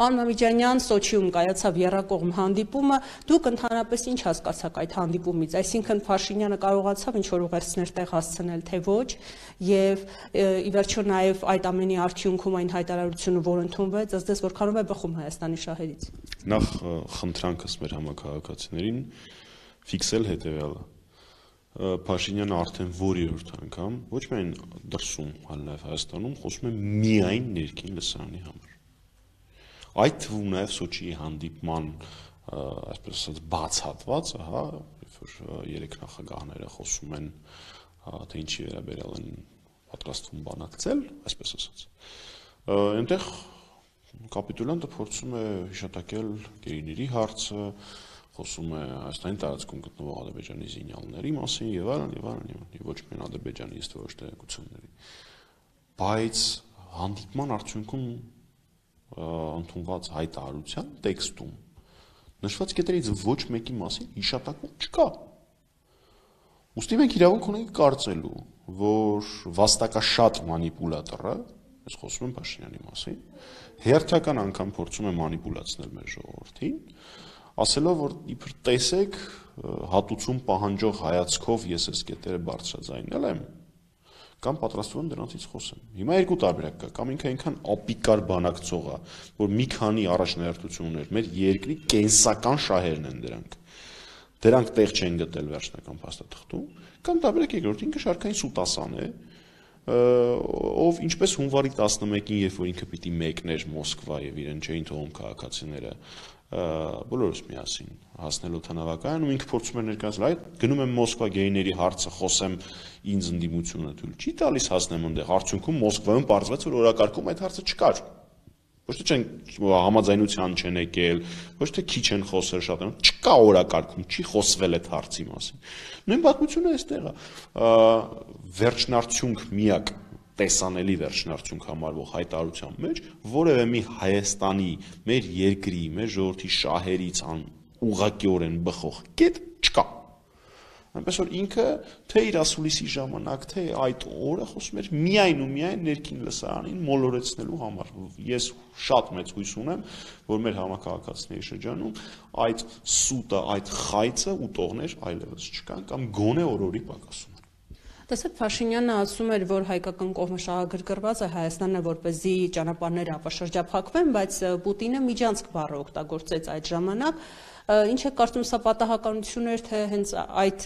Պարոն Մամիջանյան, Սոչիում կայացավ եռակողմ հանդիպումը, դուք ընդհանրապես ինչ հասկացաք այդ հանդիպումից, այսինքն Փաշինյանը կարողացավ ինչ-որ ուղերձներ տեղ հասցնել, թե ոչ, եւ ի վերջո նաեւ այդ ամենի արդյունքում այն հայտարարությունը, որ ընդունվեց, ըստ որքանով է բխում Հայաստանի շահերից։ Նախ խնդրանքս մեր համակարգացիներին ֆիքսել հետեւյալը։ Փաշինյանը արդեն որերորդ անգամ ոչ միայն դրսում, այլ նաև Հայաստանում խոսում է միայն ներքին լսարանի համար։ Այդ թվում նաև Սոչիի հանդիպման, այսպես ասած, բաց հատվածը, հա, երբ որ երեք նախագահները խոսում են, թե ինչի վերաբերյալ են պատրաստվում բանակցել, այսպես ասած, այնտեղ կապիտուլյանտը փորձում է հիշատակել գերիների հարցը, խոսում է Հայաստանի տարածքում գտնվող Ադրբեջանի զինյալների մասին եւ այլն, եւ ոչ միայն Ադրբեջանի, իսկ ոչ թե գուցեների։ Բայց հանդիպման արդյունքում ընդունված հայտարարության տեքստում նշված կետերից ոչ մեկի մասին հիշատակում չկա։ Ուստի մենք իրավունք ունենք կարծելու, որ վաստակաշատ մանիպուլատորը, ես խոսում եմ Փաշինյանի մասին, հերթական անգամ փորձում է մանիպուլացնել մեր ժողովրդին, ասելով, որ իբր տեսեք, հատուցում պահանջող հայացքով ես այս կետերը բարձրաձայնել եմ, կամ պատրաստվում եմ դրանցից խոսեմ։ Հիմա երկու տարբերակ կա, կամ ինքը այնքան ապիկար բանակցող է, որ մի քանի առաջնահերթություն ուներ, մեր երկրի կենսական շահերն են դրանք տեղ չեն գտել վերջնական փաստաթղթում, կամ տարբերակ երկրորդ, ինքը շարքային սուտասան է, ով ինչպես հունվարի 11-ին, երբ որ ինքը պիտի մեկներ Մոսկվա եւ իրեն չէին թողում քաղաքացիները բոլորս միասին հասնել օդանավակայանում, ինքը փորձում էր ներկայացնել, այդ գնում եմ Մոսկվա գեյների հարցը խոսեմ, ինձ ընդդիմությունը թույլ չի տալիս հասնեմ այնտեղ, արդյունքում Մոսկվայում պարզվեց, որ օրակարգում այդ հարցը չկար։ Ոչ թե չեն համաձայնության չեն եկել, ոչ թե քիչ են խոսել շատ, չկա օրակարգում, չի խոսվել այդ հարցի մասին։ Նույն պատմությունը այստեղ է։ Վերջնարդյունք միակ տեսանելի վերջնարդյունք համարվող հայտարարության մեջ որևէ մի Հայաստանի, մեր երկրի, մեր ժողովրդի շահերից ուղղակիորեն բխող կետ չկա։ Այնպես որ ինքը թե իր ասուլիսի ժամանակ, թե այդ օրը խոսում էր միայն ու միայն ներքին լսարանին մոլորեցնելու համար։ Ես շատ մեծ հույս ունեմ, որ մեր համակարգացիների շրջանում այդ սուտը, այդ խայծը ուտողներ այլևս չկան կամ գոնե օրորի պակասում։ Տեսեք, Փաշինյանը ասում էր, որ հայկական կողմը շահագրգռված է, Հայաստանը որպեսզի ճանապարհները ապաշրջափակվեն, բայց Պուտինը միջանցք բառը օգտագործեց այդ ժամանակ։ Ինչ է կարծում, սա պատահականություն էր, թե հենց այդ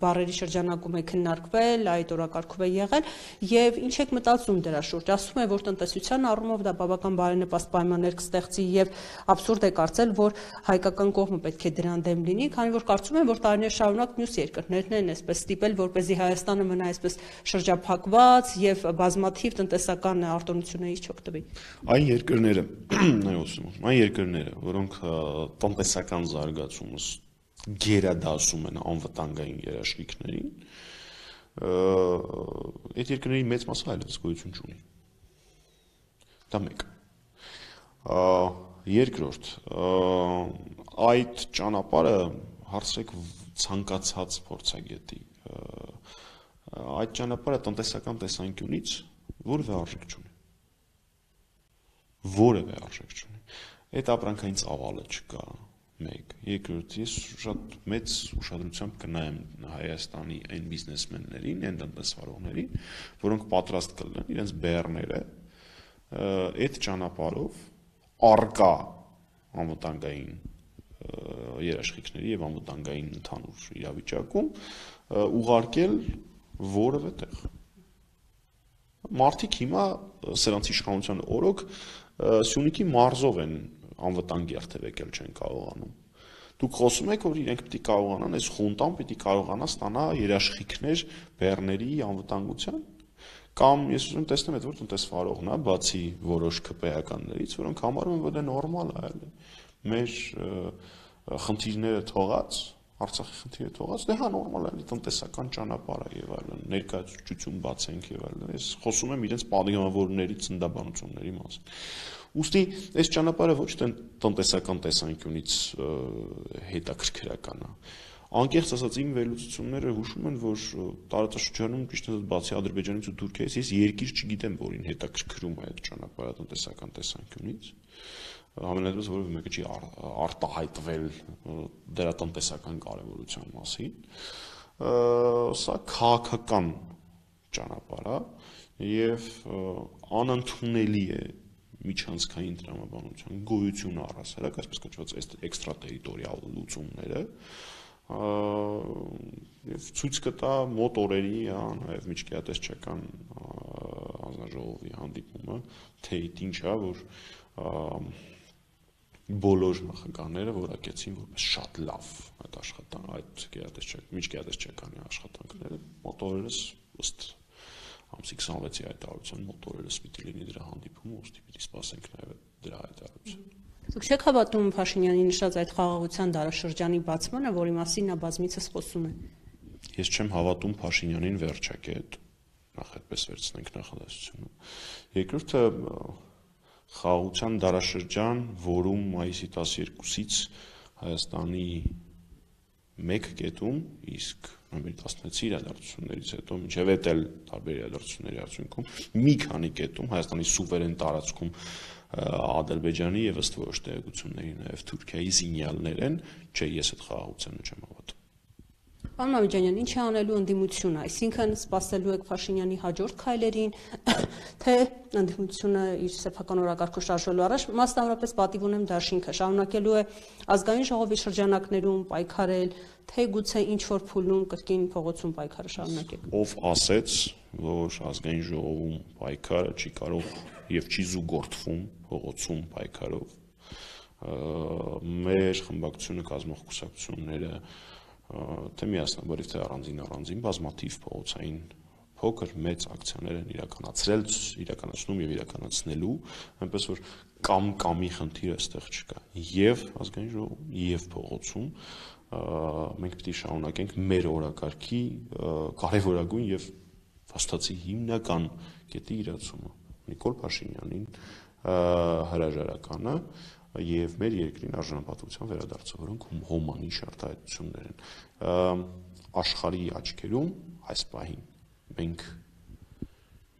բառերի շրջանակում է քննարկվել, այդ օրակարգով է եղել, եւ ինչ եք մտածում դրա շուրջ։ Ասում է, որ տնտեսության առումով դա բավական բարենպաստ պայմաններ կստեղծի եւ абսուրդ է կարծել, որ հայկական կողմը պետք է դրան դեմ լինի, քանի որ կարծում եմ, որ տարիներ շարունակ մյուս երկրներն են այսպես ստիպել, որպեսզի Հայաստանը մնա այսպես շրջափակված եւ բազմաթիվ տնտեսական արտոնություններից չօգտվի։ Այն երկրները, որոնք տնտեսական զարգացումս գերադասում են անվտանգային երաշխիքներին, այդ երկրների մեծ մասը այլևս գոյություն չունի։ Դա մեկ։ Երկրորդ, այդ ճանապարհը հարցրեք ցանկացած փորձագետի, այդ ճանապարհը տնտեսական տեսանկյունից որևէ արժեք չունի։ Որևէ արժեք չունի։ Այդ ապրանքային ծավալը չկա, մեկ, երկրորդ, ես շատ մեծ ուշադրությամբ կնայեմ Հայաստանի այն բիզնեսմեններին, այն տնտեսվարողներին, որոնք պատրաստ կլինեն իրենց բեռները այդ ճանապարհով առկա անվտանգային երաշխիքների եւ անվտանգային ընդհանուր իրավիճակում ուղարկել որևէ տեղ։ Մարդիկ հիմա սրանց իշխանության օրոք Սյունիքի մարզով են անվտանգ երթևեկել չեն կարողանում։ Դուք խոսում եք, որ իրենք պիտի կարողանան, այս խունտան պիտի կարողանա ստանա երաշխիքներ բեռների անվտանգության, կամ ես ուզում տեսնեմ այդ որ տնտեսվարողն է, բացի որոշ ԿՊ-ականներից, որոնք համարում են, որ դա նորմալ է, այլ մեր խնդիրները թողած, Արցախի խնդիրը թողած, դե հա նորմալ է, տնտեսական ճանապարհ է եւ այլն, ներկայացություն բացենք եւ այլն։ Ես խոսում եմ իրենց падգամավորների ծնդաբանությունների մասին։ Ուստի այս ճանապարհը ոչ թե տնտեսական տեսանկյունից հետաքրքրական է։ Անկեղծ ասած իմ վերլուծությունները հուշում են, որ տարածաշրջանում ճիշտ ասած բացի Ադրբեջանից ու Թուրքիայից ես երկիր չգիտեմ, որին հետաքրքրում է այդ ճանապարհը տնտեսական տեսանկյունից։ Համենայնպես որևէ մեկը չի արտահայտվել դրա տնտեսական կարևորության մասին, սա քաղաքական ճանապարհ է եւ անընդունելի է միջանցքային տրամաբանության գոյությունը առհասարակ, այսպես կոչված էքստրատերիտորիալ լուծումները, եւ ցույց կտա մոտ օրերի, նաեւ միջկայատեսչական հանձնաժողովի հանդիպումը, թե ինչ է, որ բոլոր նախագահները որակեցին որպես շատ լավ այդ աշխատանքը, միջկայատեսչականի աշխատանքները, մոտ օրերս ըստ ամսի 26-ի հայտարարության մոտ օրերս պիտի լինի դրա հանդիպումը, ուստի պիտի սպասենք նաև դրա հայտարարությունը։ Դուք չեք հավատում Փաշինյանի նշած այդ խաղաղության դարաշրջանի բացմանը, որի մասին նա բազմիցս խոսում է։ Ես չեմ հավատում Փաշինյանին վերջակետ, նախ այդպես վերցնենք նախադասությունը։ Երկրորդը խաղաղության դարաշրջան, որում մայիսի 12-ից Հայաստանի մեկ կետում, իսկ նոյեմբերի 16-ի իրադարձություններից հետո մինչև էդ էլ տարբեր իրադարձությունների արդյունքում մի քանի կետում Հայաստանի սուվերեն տարածքում Ադրբեջանի եւ ըստ որոշ տեղեկությունների նաեւ Թուրքիայի զինյալներ են, չէ, ես այդ խաղաղությանը չեմ հավատում։ Պարոն Մամեջանյան, ինչ է անելու ընդդիմությունը, այսինքն սպասելու եք Փաշինյանի հաջորդ քայլերին, թե ընդդիմությունը իր սեփական օրակարգը շարժելու առաջ, մասնավորապես պատիվ ունեմ դաշինքը, շարունակելու է ազգային ժողովի շրջանակներում պայքարել, թե գուցե ինչ որ փուլում կրկին փողոցում պայքարը շարունակեք։ Ով ասեց, որ ազգային ժողովում պայքարը չի կարող եւ չի զուգորդվում փողոցում պայքարով, մեր խմբակցությունը կազմող կուսակցությունները թե միասնաբարիվ թե առանձին բազմաթիվ փողոցային փոքր մեծ ակցիաներ են իրականացնում եւ իրականացնելու, այնպես որ կամի խնդիր այստեղ չկա, եւ ազգային ժողովում եւ փողոցում մենք պիտի շարունակենք մեր օրակարգի կարևորագույն եւ վաստացի հիմնական կետի իրացումը, Նիկոլ Փաշինյանին հրաժարականը եւ մեր երկրին արժանապատվության վերադարձավորանք հոմանիշ արտահայտություններ են աշխարհի աչքերում այս պահին մենք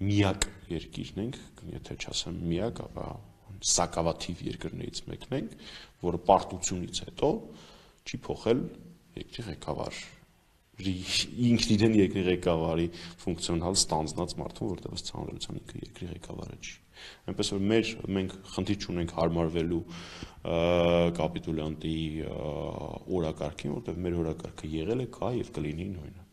միակ երկիրն ենք, եթե չասեմ միակ, ապա սակավաթիվ երկրներից մեկն ենք, որը պարտությունից հետո չի փոխել երկրի ղեկավար ինքն իրեն երկրի ղեկավարի ֆունկցիոնալ ստանձնած մարդուն, որտեղ ցանրության ինքը երկրի ղեկավարը չի։ Այնպես որ մենք խնդիր չունենք հարմարվելու կապիտուլյանտի օրակարգին, որտեղ մեր օրակարգը եղել է, կա եւ կլինի նույնը։